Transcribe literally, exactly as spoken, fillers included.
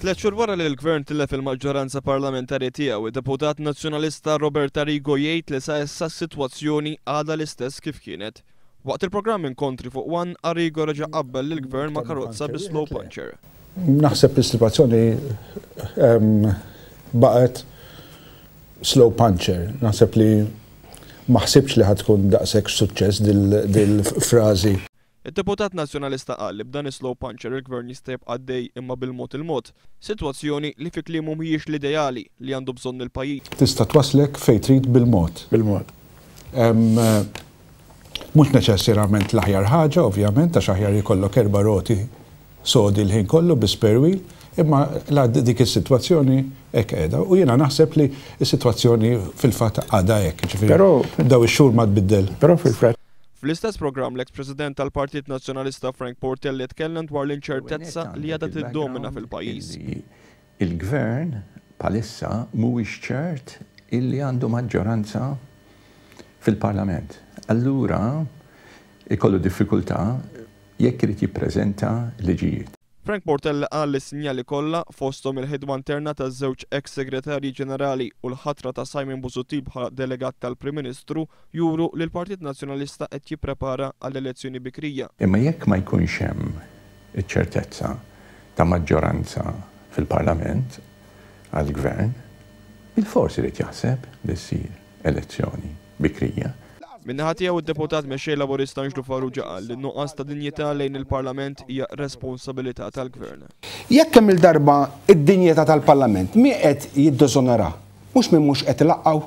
Tliet xhur wara li l-Gvern tilef il-maġġoranza parlamentari tiegħu, id-deputat Nazzjonalista Robert Arrigo jgħid li sa issa s-sitwazzjoni għadha l-istess kif kienet. Waqt il-programm Inkontri fuq One, Arrigo reġa' qabbel lill-Gvern ma' karozza bi slow puncture. Naħseb li s-sitwazzjoni baqgħet slow puncture. Naħseb li ma ħsibx li ħa tkun daqshekk suċċess dil-frażi. Id-deputat Nazzjonalista qal li b'dan is-slow puncture il-Gvern jista' jibqa' għaddej imma bil-mod il-mod, sitwazzjoni li fi kliemu mhijiex l-ideali li għandu bżonn il-pajjiż. Tista' twaslek fejn trid bil-mod. Bil-mod. Mhux neċessarjament l-aħjar ħaġa, ovvjament, għax aħjar jkollok erba' roti sodi l-ħin kollu bi spare wheel, imma la dik is-sitwazzjoni hekk qiegħda. U jiena naħseb li s-sitwazzjoni fil-fatt għadha hekk, ġifieri daw ix-xhur ma tbiddel. Però fil-fatt Fl-istess programm, l-ex-president tal-Partit Nazzjonalista Frank Portelli tkellem dwar l-inċertezza li għadha tiddomina fil-pajjiż. Il-gvern bħalissa mhuwiex ċert illi għandu maġġoranza fil-Parlament. Allura ikollu diffikultà jekk irid jippreżenta liġijiet. Frank Portelli qal li s-sinjali kollha, fosthom il-ħidma interna taż-żewġ ex-segretarji ġenerali u l-ħatra ta' Simon Busuttil bħala delegat tal-Prim Ministru, juru li l-Partit Nazzjonalista qed jipprepara għall elezzjoni bikrija. Imma jekk ma jkunx hemm iċ-ċertezza ta' maġġoranza fil-Parlament għall-gvern, il-forsi irid jaħseb li ssir elezzjoni bikrija. Min-naħa tiegħu, id-deputat mexxej Laburista Anġlu Farrugia qal li n-nuqqas ta' dinjità lejn il-Parlament hija responsabilità tal-Gvern. Jekk kemm il-darba id-dinjità tal-Parlament, min qed jiddiżonora? Mhux min mhux qed ilaqqgħu.